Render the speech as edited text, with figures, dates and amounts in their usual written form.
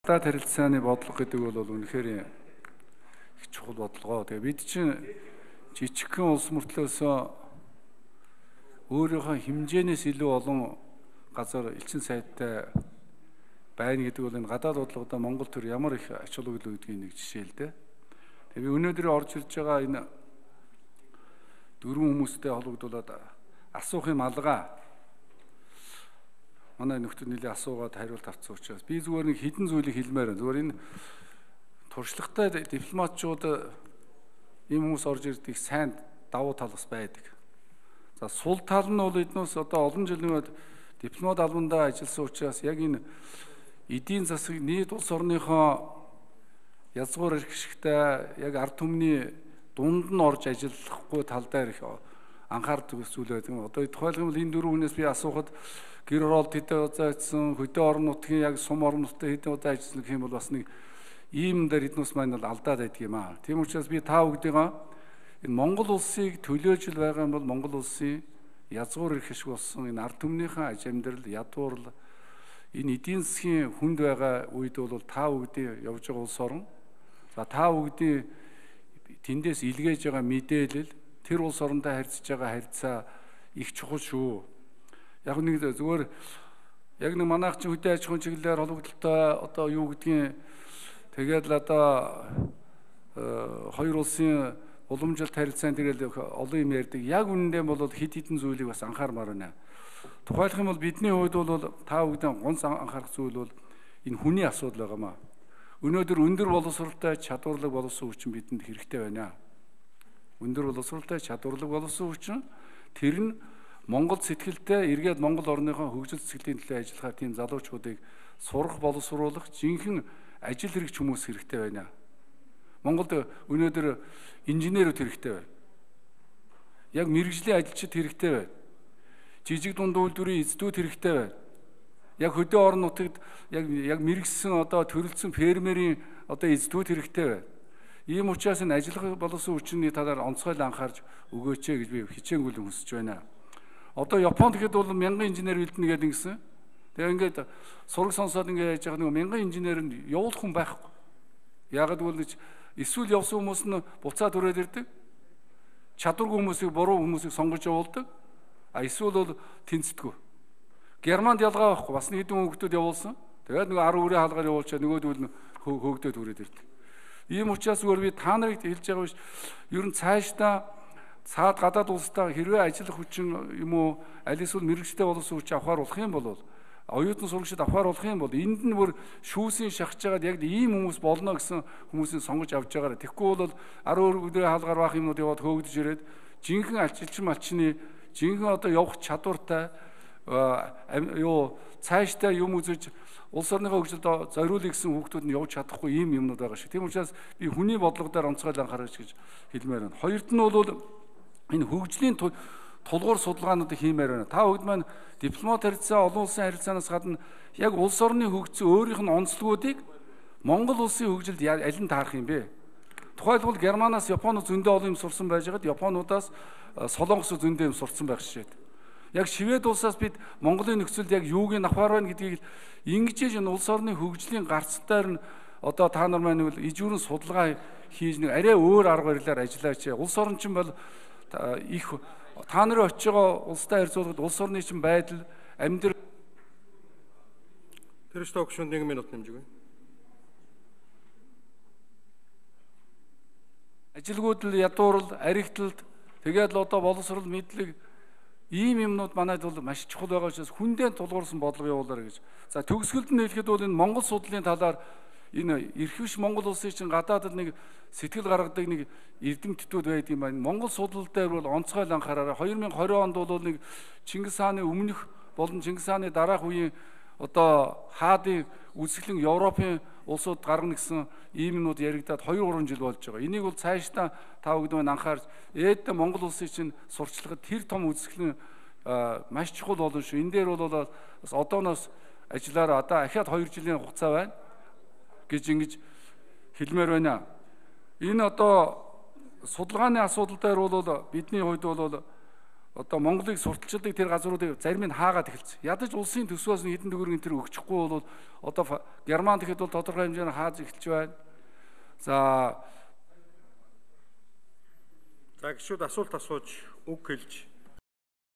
Гадаад харилцааны бодлого гэдэг бол үнэхээр их чухал бодлого. Тэгээ бид чинь жижигхэн улс мөртлөөсөө өөрийнхөө хэмжээнээс илүү олон газар элчин сайдтай байна гэдэг бол энэ гадаад бодлогодоо Монгол төр ямар их ач холбогдол үүдгийг нэг жишээ л дээ. Тэгээ би өнөөдөр орж ирж байгаа энэ дөрвөн хүмүүстэй холбогдуулаад асуух юм алгаа. Манай нөхдөд нэлээ асуугаад хариулт авсан учраас би зүгээр нэг хідэн зүйлийг хэлмээр байна. Зүгээр энэ туршлагатай дипломатчууд ийм хүмүүс орж ирдэг сайн давуу тал бас байдаг. За сул тал нь бол эднээс одоо олон жилийн өмнө дипломат албандаа ажилласан учраас яг энэ эдийн засаг нийт улс орныхоо язгуур эрхшигтэй яг ард түмний дунд нь орж ажиллахгүй тал дээр их анхаардаг зүйл байдаг. Одоо тухайлбал энэ дөрвөн хүнээс би асуухад гэр оролт хэдэн удаа ажилласан, хөдөө орон нутгийн яг сум орон нутгийн хэдэн удаа ажилласан гэх юм бол бас нэг ийм дээр эднээс маань бол алдаад байдаг юм аа. Тийм учраас би та бүгдийгээ энэ Монгол улсыг төлөөж л байгаа юм бол Монгол улсын язгуур эрхшиг болсон энэ ард түмнийхэн аж амьдрал, ядуурл энэ эдийн засгийн хүнд байгаа үед бол та бүгдийн явж байгаа улс орон. За та бүгдийн тэндээс илгээж байгаа мэдээлэл тэр улс орондоо харьцаж байгаа харьцаа их чухал шүү. Яг нэг зүгээр яг нэг манайх чинь хөдөө аж ахуйн чиглэлээр холбогдлолтой одоо юу гэдгийг тэгээд л одоо хоёр улсын уламжлалт харилцаанд тэгэл олон юм ярьдаг. Яг үнэндээ бол хид хідэн зүйлийг бас анхаармаар байна. Тухайлх юм бол бидний хувьд бол та бүгдийн гонц анхаарах зүйл бол энэ хүний асуудал байгаамаа. Өнөөдөр өндөр боловсролтой чадварлаг болсон хүчин бидэнд хэрэгтэй байна. Өндөр боловсролтой чадварлаг болсон хүчин тэр нь Монгол сэтгэлтэй эргээд Монгол орныхоо хөгжил цэцгэлтийн төлөө ажиллахаар тийм залуучуудыг сурах боловсруулах жинхэнэ ажил хэрэгч хүмүүс хэрэгтэй байна. Монголд өнөөдөр инженерүүд хэрэгтэй байна. Яг мэрэгжлийн ажилчид хэрэгтэй байна. Жижиг дунд үйлдвэрийн эзэдүүд хэрэгтэй байна. Яг хөдөө орон нутагт яг мэрэгсэн одоо төрөлцсөн фермерийн одоо эзэдүүд хэрэгтэй байна. Ийм учраас энэ ажиллах боловсон хүчний талаар онцгой анхаарч өгөөч гэж би хичээнгүйлэн хүсэж байна. Одоо Японд гэхэд бол мянган инженер бэлдэнэ гэдэг ингэсэн. Тэгээ ингээд сураг сонсоод ингээд яж байгаа нэг мянган инженер нь явуулах хүн байхгүй. Яагаад гэвэл эсвэл явсан хүмүүс нь буцаад өрөөд ирдэг. Чадваргүй хүмүүсийг буруу хүмүүсийг сонгож явуулдаг. Эсвэл бол тэнцдэггүй. Германд ялгаа байхгүй. Бас нэг хэдэн хүүхдүүд явуулсан. Тэгээд нэг 10 үрээ хаалгаар явуулчаад нөгөөдөл нь хөөгдөд хүрээд ирдэг. Ийм учраас зүгээр би та нарыг хэлж байгаа биш. Ер нь цаашдаа цаад гадаад улстай хэрвээ ажиллах хүчин юм уу аль эсвэл мэрэгчтэй болсон хүч авахар болох юм бол оюутан сурагчид авахар болох юм бол энд нь бүр шүүсийн шахаж байгаад яг ийм хүмүүс болно гэсэн хүмүүсийн сонгож авч байгаараа. Тэгэхгүй бол 10 өдрийн хаалгаар баах юмнууд яваад хөөгдөж ирээд жинхэнэ ажилчин малчны жинхэнэ одоо явах чадвартай юу цаашдаа юм үзэж улс орныхоо хөгжилд зориулъя гэсэн хүүхдүүд нь явж чадахгүй ийм юмнууд байгаа шиг. Тийм учраас би хүний бодлого дээр онцгой анхаарч гэж хэлмээр байна. Хоёрт нь бол энэ хөгжлийн тулгуур судалгаануудыг хиймээр байна. Та бүгд маань дипломат харилцаа, олон улсын харилцаанаас гадна яг улс орны хөгжсөн өөрийнх нь онцлогуудыг Монгол улсын хөгжилд аль нь таарах юм бэ? Тухайлбал Германаас Японоос зөндөө олон юм сурсан байж байгаад Японуудаас Солонгосоос зөндөө юм сурсан байх шээ. Яг Швед улсаас бид Монголын нөхцөлд яг юуг нь авахар байна гэдгийг ингэж энэ улс орны хөгжлийн гарцтайр нь одоо та нар маань бол ижүүрэн судалгаа хийж нэг арай өөр арга барилаар ажиллаач. Улс орн чинь бол их та нарын очиж байгаа улстай харьцуулахад улс орны чинь байдал амьдрал Тэр что гүшүүнд 1 минут нэмжгүй. Ажилгууд л ядуурл, аригтлалд тэгээд л одоо боловсрол мэдлэг ийм юмнууд манайд бол маш чухал байгаа учраас хүндээ тулгуурсан бодлого явуулаарай гэж. За төгсгөлд нь хэлэхэд бол энэ Монгол судлалын талаар энэ эрхвч Монгол улсын чинь гадаадд нэг сэтгэл гаргадаг нэг эрдэмтдүүд байд юм байна. Монгол судлал дээр бол онцгой анхаараарай. 2020 онд бол нэг Чингис хааны өмнөх болон Чингис хааны дараах үеийн одоо хаадын үсгэлэн Европын улсууд гаргана гэсэн ийм юмнууд яригадаад 2-3 жил болж байгаа. Энийг бол цаашдаа та бүгд маань анхаарч ээдээ Монгол улсын чинь сурчлагад тэр том үсгэлэн маш чухал болно шүү. Энэ дээр бол бас одооноос ажиллаараа одоо ахаад 2 жилийн хугацаа байна гэж ингэж хэлмээр байна. Энэ одоо судалгааны асуудал дээр бол бидний хувьд бол одоо Монголыг сурталчилдаг тэр газруудыг зарим нь хаагаад эхэлсэн. Ядаж улсын төсвөөс нь хэдэн төгрөгийн тэр өгчихгүй бол одоо Герман гэхэд бол тодорхой хэмжээгээр хааж эхэлж байна. За гişүүд асуулт асууж үг хэлж